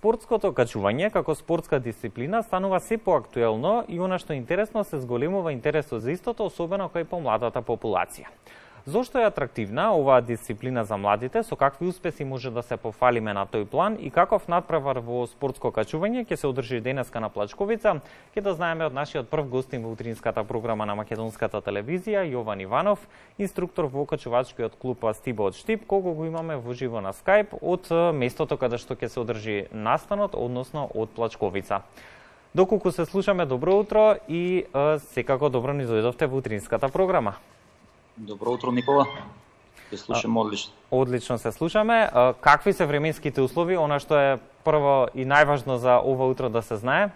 Спортското качување како спортска дисциплина станува се поактуелно и она што е интересно се зголемува интересот за истото, особено кај помладата популација. Зошто е атрактивна оваа дисциплина за младите, со какви успеси може да се пофалиме на тој план и каков натпревар во спортско качување ќе се одржи денеска на Плачковица, ќе да знаеме од нашиот прв гостин во утринската програма на Македонската телевизија, Јован Иванов, инструктор во качувачкиот клуб Стиба од Штип, кого го имаме во живо на Скајп од местото каде што ќе се одржи настанот, односно од Плачковица. Доколку се слушаме, добро утро и секако добро ни дојдовте во утринската програма. Добро утро, Никола. Се слушаме одлично. Одлично се слушаме. Какви се временските услови, она што е прво и најважно за ова утро да се знае?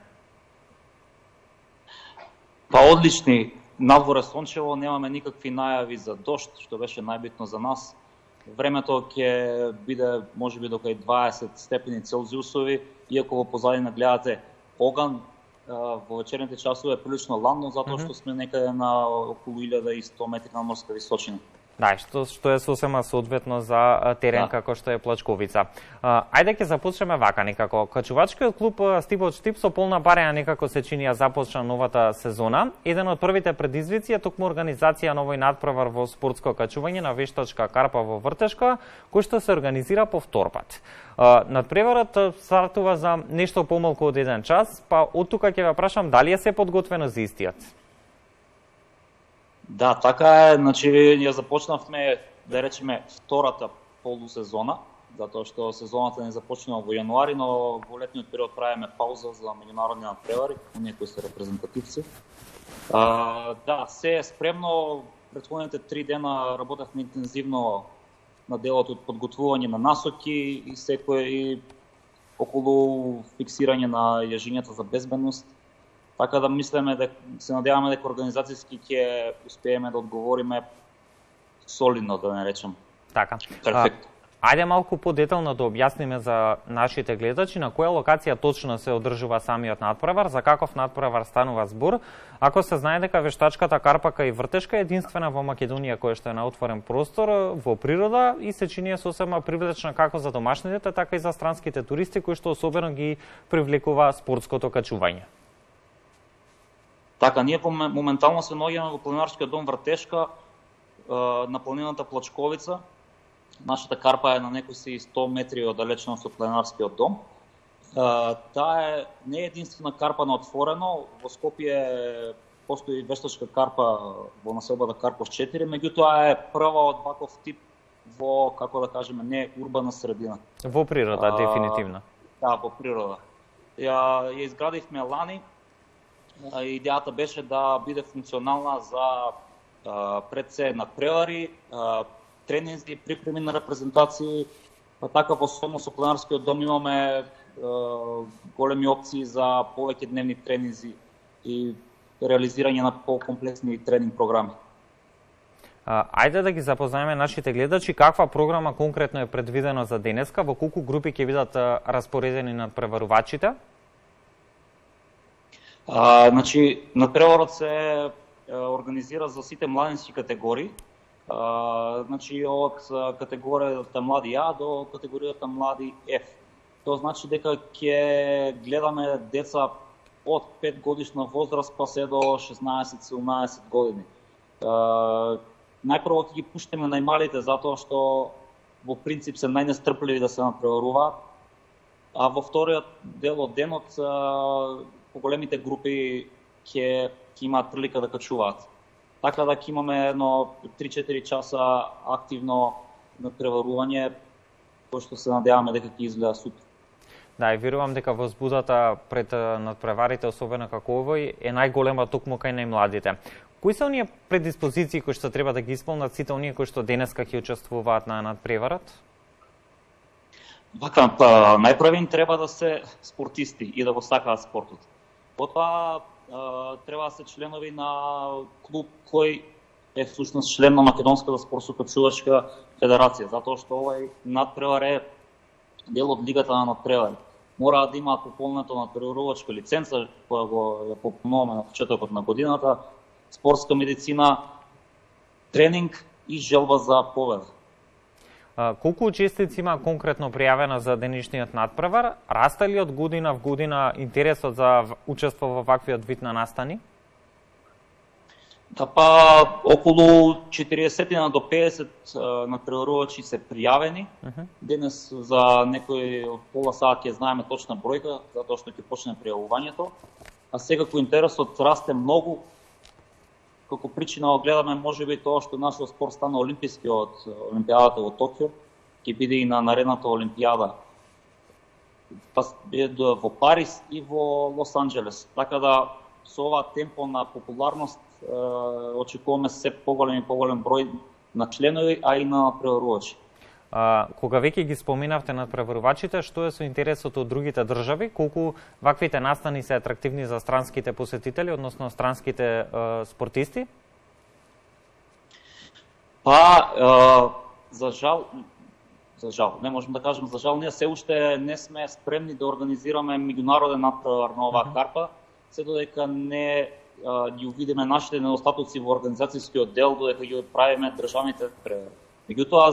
Па одлични. Надвор е сончево, немаме никакви најави за дожд, што беше најбитно за нас. Времето ќе биде можеби до кај 20 степени Целзиусови, иако во позадина гледате оган. Во вечерните часове е прилично ладно, затоа што сме некаде на околу 1100 метри на морска височина. Да, што е сосема соодветно за терен како што е Плачковица. Ајде ќе започнеме вака некако. Качувачкиот клуб Стиба од Штип со полна барења некако се чини започна новата сезона. Еден од првите предизвици е токму организација на овој надпревар во спортско качување на вештачка карпа во Вртешка, кој што се организира повторпат. Надпреварот стартува за нешто помалку од 1 час, па од тука ќе ве прашам дали е се подготвено за истиот. Да, така е, значи ја започнавме, да речеме, втората полусезона, затоа што сезоната не започнува во јануари, но во летниот период правиме пауза за меѓународни надпревари, оние кои се репрезентативци. Да, се е спремно, претходните 3 дена работевме интензивно на делот од подготвување на насоки и секој околу фиксирање на јажињата за безбедност. Така да мислиме дека се надеваме дека организацијски ќе успееме да одговориме солидно, да не речем. Така. Перфектно. Ајде малку подетално да објасниме за нашите гледачи на која локација точно се одржува самиот надпревар, за каков надпревар станува збор. Ако се знае дека вештачката карпа кај Вртешка е единствена во Македонија која што е на отворен простор во природа и се чини сосема привлечна како за домашните, така и за странските туристи кои што особено ги привлекува спортското качување. Така, ние моментално се наоѓаме во планинарскиот дом Вртешка, на планината Плачковица. Нашата карпа е на некои 100 метри оддалеченост од планинарскиот дом. Таа не е единствена карпа на отворено. Во Скопје постои вештачка карпа во населбата Карпов 4, меѓутоа е прва од ваков тип во, како да кажеме, не урбана средина. Во природа, дефинитивно. Да, во природа. Ја изградивме лани. Идејата беше да биде функционална за пред се надпревари, тренинзи, припреми на репрезентации, па така во соедно со планинарскиот дом имаме големи опции за повеќе дневни тренинзи и реализирање на покомплексни тренинг програми. Ајде да ги запознаеме нашите гледачи каква програма конкретно е предвидено за денеска, во колку групи ќе бидат распоредени надпреварувачите? Значи, надпреварот се организира за сите младински категории. Значи, од категоријата млади А до категоријата млади Ф. Тоа значи дека ќе гледаме деца од 5 годишна возраст па се до 16-17 години. Најпрво ќе ги пуштиме најмалите затоа што во принцип се најнестрпливи да се надпреваруваат, а во вториот дел од денот поголемите групи ќе имаат прилика да качуваат. Така да ќе имаме едно 3-4 часа активно надпреварување, кој што се надеваме дека ќе изгледа супер. Да, и верувам дека возбудата пред надпреварите, особено како овој, е најголема токму кај најмладите. Кои се оние предиспозиции кои што треба да ги исполнат сите оние кои што денеска ќе учествуваат на надпреварот? Вака, најпрво им треба да се спортисти и да го сакаат спортот. Потоа треба да се членови на клуб кој е всушност член на Македонската спортско-качувачка федерација, затоа што овој надпревар е дел од лигата на надпревари. Мора да имаат пополнето надпреварувачка лиценца, која го пополнуваме на почетокот на годината, спортска медицина, тренинг и желба за победа. Колку учесници има конкретно пријавено за денешниот натпревар? Расте ли од година в година интересот за учество во ваквиот вид на настани? Да, па околу 40 до 50 натпреварувачи се пријавени. Денес за некој пола сат ќе знаеме точна бројка, затоа што ќе почне пријавувањето. А секако интересот расте многу. Како причина гледаме можеби тоа што нашиот спорт стана олимписки од Олимпијадата во Токио, ќе биде и на наредната Олимпијада во Париз и во Лос Анџелес. Така да со ова темпо на популарност очекуваме се поголем и поголем број на членови, а и на преварувачи. Кога веќе ги споменавте на преварувачите, што е со интересот од другите држави? Колку ваквите настани се атрактивни за странските посетители, односно странските спортисти? Па, за жал, не можем да кажем за жал, ние се уште не сме спремни да организираме меѓународен натпревар на оваа карпа, се додека не ги увидиме нашите недостатоци во организацијскиот дел, додека ги правиме државните превари. Меѓутоа,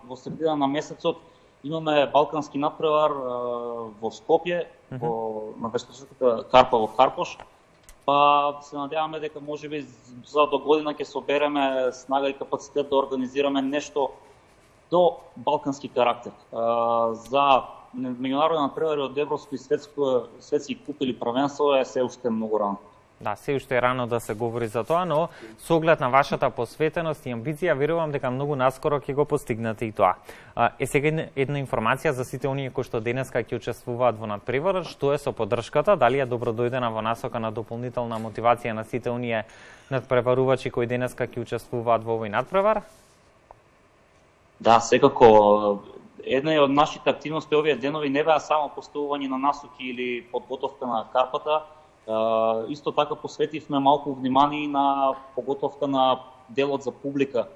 во средина на месецот имаме балкански натпревар во Скопје, на вештачката карпа во Карпош. Па се надеваме дека можеби за до година ќе собереме снага и капацитет да организираме нешто до балкански карактер. За меѓународни натпревари од европско и светски куп или првенство е се уште многу рано. Да, се уште е рано да се говори за тоа, но со оглед на вашата посветеност и амбиција, верувам дека многу наскоро ќе го постигнете и тоа. Сега една информација за сите оние кои што денеска ќе учествуваат во натпреварот, што е со поддршката, дали е добродојдена во насока на дополнителна мотивација на сите оние натпреварувачи кои денеска ќе учествуваат во овој натпревар? Да, секако. Една од нашите активности овие денови не беа само поставување на насоки или подготовка на карпата, исто така посветивме малку внимание на подготовка на делот за публика.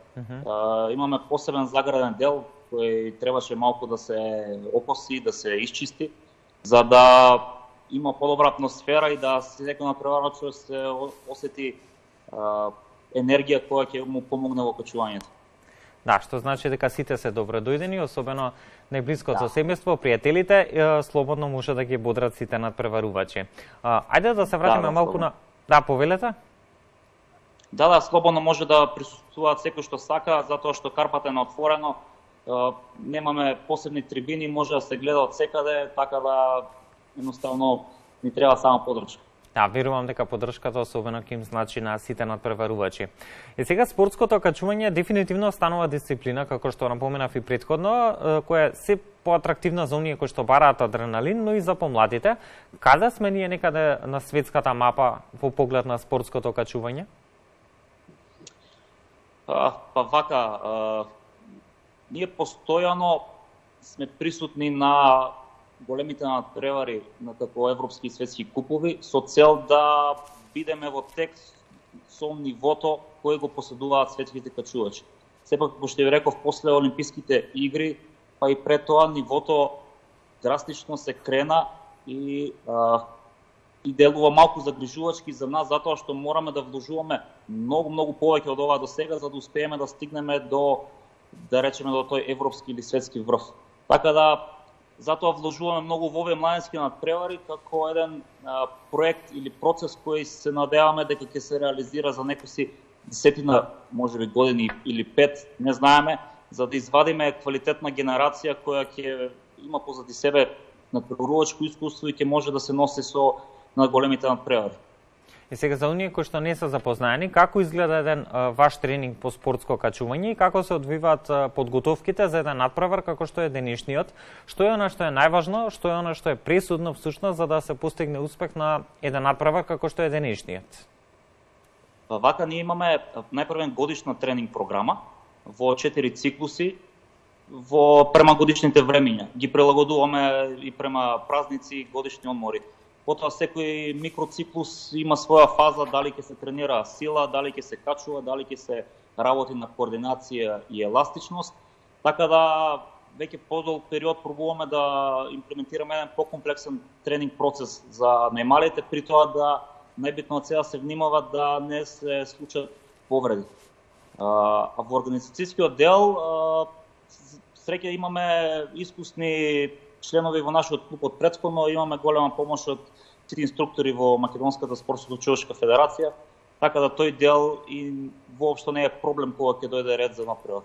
Имаме посебен заграден дел кој требаше малку да се окоси, да се исчисти, за да има подобра атмосфера и да секој натпреварач се осети енергија која ќе му помогне во качувањето. Да, што значи дека сите се добродојдени, особено најблиското семејство, пријателите, слободно може да ги бодрат сите натпреварувачи. Ајде да се вратиме малку на... Да, повелете? Да, слободно може да присуствуваат секој што сака, затоа што карпата е на отворено, немаме посебни трибини, може да се гледа од секаде, така да едноставно ни треба само поддршка. Да, верувам дека поддршката особено ќе им значи на сите натпреварувачи. И сега спортското качување дефинитивно станува дисциплина, како што напоменав и претходно, која е се поатрактивна за оние кои што бараат адреналин, но и за помладите. Каде сме ние некаде на светската мапа во поглед на спортското качување? Па вака, ние постојано сме присутни на големите натпревари на како европски и светски купови со цел да бидеме во тек со нивото кој го поседуваат светските качувачи. Сепак, како што ви реков, после Олимписките игри, па и пред тоа нивото драстично се крена и делува малку загрижувачки за нас, затоа што мораме да вложуваме многу повеќе од ова до сега, за да успееме да стигнеме до, да речеме, до тој европски или светски врв. Така да, затоа вложуваме многу во овие младински натпревари како еден проект или процес кој се надеваме дека ќе се реализира за некои десетина, можеби години или 5, не знаеме, за да извадиме квалитетна генерација која ќе има позади себе натпреварувачко искуство и ќе може да се носи со на големите натпревари. И сега за оние кои што не се запознаени, како изгледа еден ваш тренинг по спортско качување и како се одвиваат подготовките за еден натпревар како што е денешниот? Што е она што е најважно, што е она што е пресудно всушност за да се постигне успех на еден натпревар како што е денешниот? Вака ние имаме најпрвен годишна тренинг програма во 4 циклуси према годишните времиња. Ги прилагодуваме и према празници и годишни одмори. Потоа секој микроциклус има своја фаза, дали ќе се тренира сила, дали ќе се качува, дали ќе се работи на координација и еластичност. Така да веќе подолг период пробуваме да имплементираме еден покомплексен тренинг процес за најмалите, при тоа да најбитно од сега се внимава да не се случат повреди. А во организацијскиот дел среќа имаме искусни членови во нашиот клуб од претходно, имаме голема помош од сите инструктори во Македонската спортско-училошка федерација, така да тој дел и воопшто не е проблем кога ќе дојде ред за напред.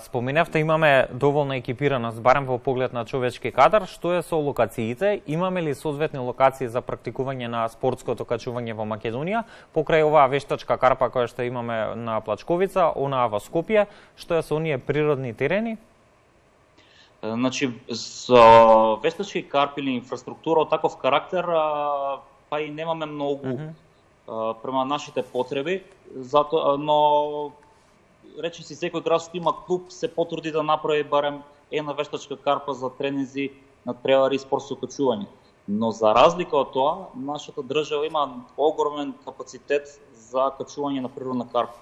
Споменавте имаме доволна екипираност, барем во поглед на човечки кадар. Што е со локациите? Имаме ли соодветни локации за практикување на спортското качување во Македонија? Покрај оваа вештачка карпа која што имаме на Плачковица, онаа во Скопје, што е со оние природни терени? Значи, со вештачки карпи или инфраструктура од таков карактер, па и немаме многу према нашите потреби, но речи си секој град што има клуб се потруди да направи барем една вештачка карпа за тренинзи, надпревари и спортско качување. Но за разлика од тоа, нашата држава има огромен капацитет за качување на природна карпа.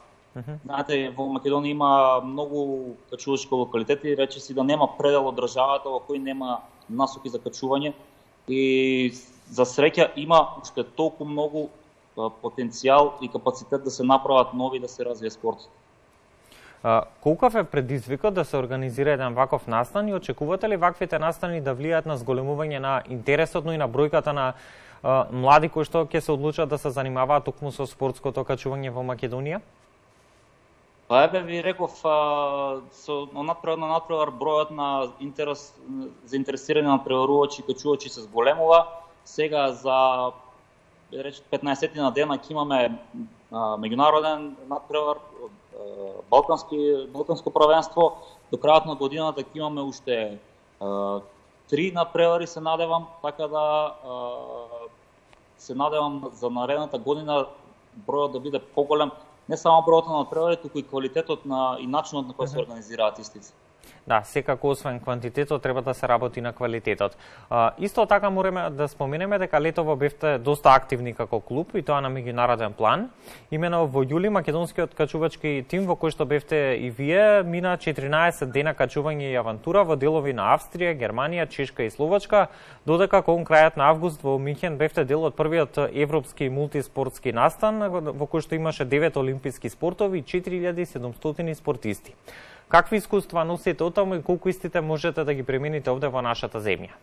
Знаете, во Македонија има многу качувачки локалитети, речи си да нема предел од државата во кој нема насоки за качување и за среќа има уште толку многу потенцијал и капацитет да се направат нови, да се развие спортот. Колкав е предизвикот да се организира еден ваков настан и очекувате ли ваквите настани да влијаат на зголемување на интересот, но и на бројката на млади кои што ќе се одлучат да се занимаваат токму со спортското качување во Македонија? Па еве ви реков, со надпревар бројот на заинтересирани надпреварувачи и качувачи се зголемува. Сега за 15 дена ќе имаме меѓународен надпревар, Балканско првенство. До крајот на годината ќе имаме уште 3 надпревари, се надевам, така да се надевам за наредната година бројот да биде поголем, не само бројот на надпревари, туку и квалитетот и начинот на кој се организираат истите. Да, секако освен квантитетот треба да се работи на квалитетот. Исто така мораме да споменеме дека летово бевте доста активни како клуб и тоа на меѓународен план. Имено во јули македонскиот качувачки тим во кој што бевте и вие мина 14 дена качување и авантура во делови на Австрија, Германија, Чешка и Словачка, додека кон крајот на август во Минхен бевте дел од првиот европски мултиспортски настан во кој што имаше 9 олимписки спортови и 4700 спортисти. Какви искуства носите од таму и колку истите можете да ги примените овде во нашата земја?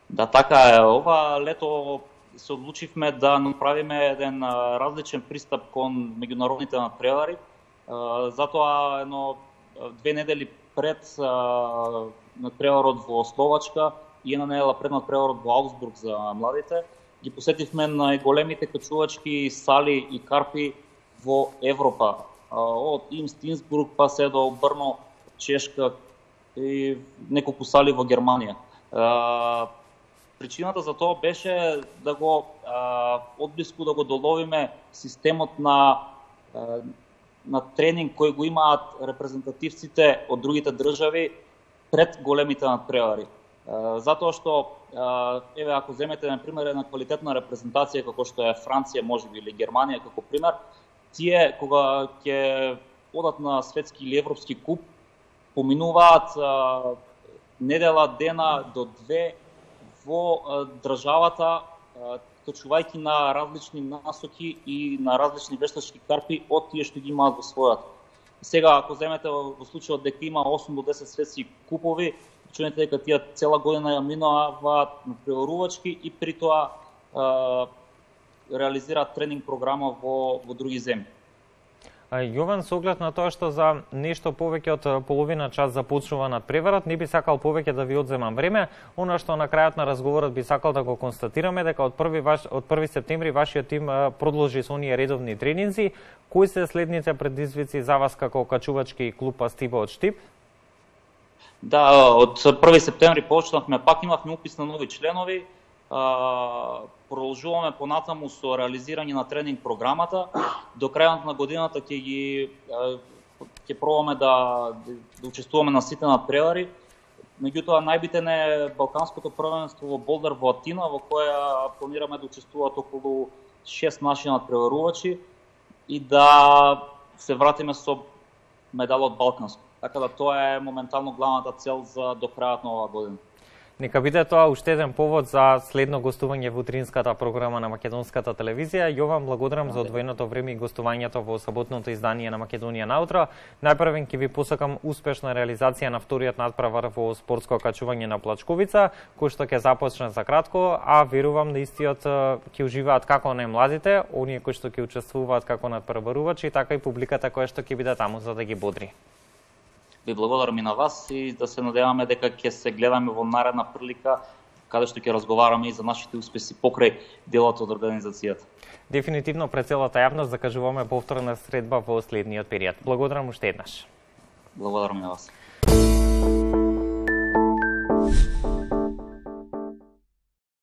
Да, така е. Ова лето се одлучивме да направиме еден различен пристап кон меѓународните надпревари. Затоа 2 недели пред надпреварот во Словачка и една недела пред надпреварот во Аугсбург за младите, ги посетивме најголемите качувачки сали и карпи во Европа. Од Инсбрук па се до Брно, Чешка и неколку сали во Германија. Причината за тоа беше да го одблиску да го доловиме системот на тренинг кој го имаат репрезентативците од другите држави пред големите надпревари. Затоа што еве ако земете на пример една квалитетна репрезентација како што е Франција, можеби или Германија како пример, тие кога ќе одат на светски или европски куп, поминуваат недела, дена до 2 во државата, качувајќи на различни насоки и на различни вештачки карпи од тие што ги имаат во својата. Сега, ако земете во случајот дека има 8 до 10 светски купови, чуете дека тие цела година ја минуваат на преварувачки и при тоа реализираат тренинг програма во други земји. Јован, со оглед на тоа што за нешто повеќе од половина час започнува надпреварот, не би сакал повеќе да ви одземам време. Она што на крајот на разговорот би сакал да го констатираме дека од 1 септември вашиот тим продолжи со оние редовни тренинзи. Кои се следните предизвици за вас како качувачки клуб Стиба од Штип? Да, од 1 септември почнавме, пак имавме упис на нови членови. Продолжуваме понатаму со реализирање на тренинг програмата. До крајот на годината ќе пробаме да учествуваме на сите надпревари. Меѓутоа најбитен е Балканското првенство во Болдар во Атина, во која планираме да учествуваат околу 6 наши надпреварувачи и да се вратиме со медал од Балканско. Така да тоа е моментално главната цел за до крајот на оваа година. Нека биде тоа уште еден повод за следно гостување во утринската програма на Македонската телевизија. Јован, благодарам за одвоеното време и гостувањето во саботното издание на Македонија на утро. Најпрвен ќе ви посакам успешна реализација на вториот надпревар во спортско качување на Плачковица, кој што ќе започне за кратко, а верувам да истиот ќе уживаат како најмладите, оние кои што ќе учествуваат како надпреварувачи, така и публиката која што ќе биде таму за да ги бодри. Ви благодарам и на вас и да се надеваме дека ќе се гледаме во наредна прилика каде што ќе разговараме и за нашите успеси покрај делот од организацијата. Дефинитивно пред целата јавност закажуваме повторна средба во следниот период. Благодарам уште еднаш. Благодарам и на вас.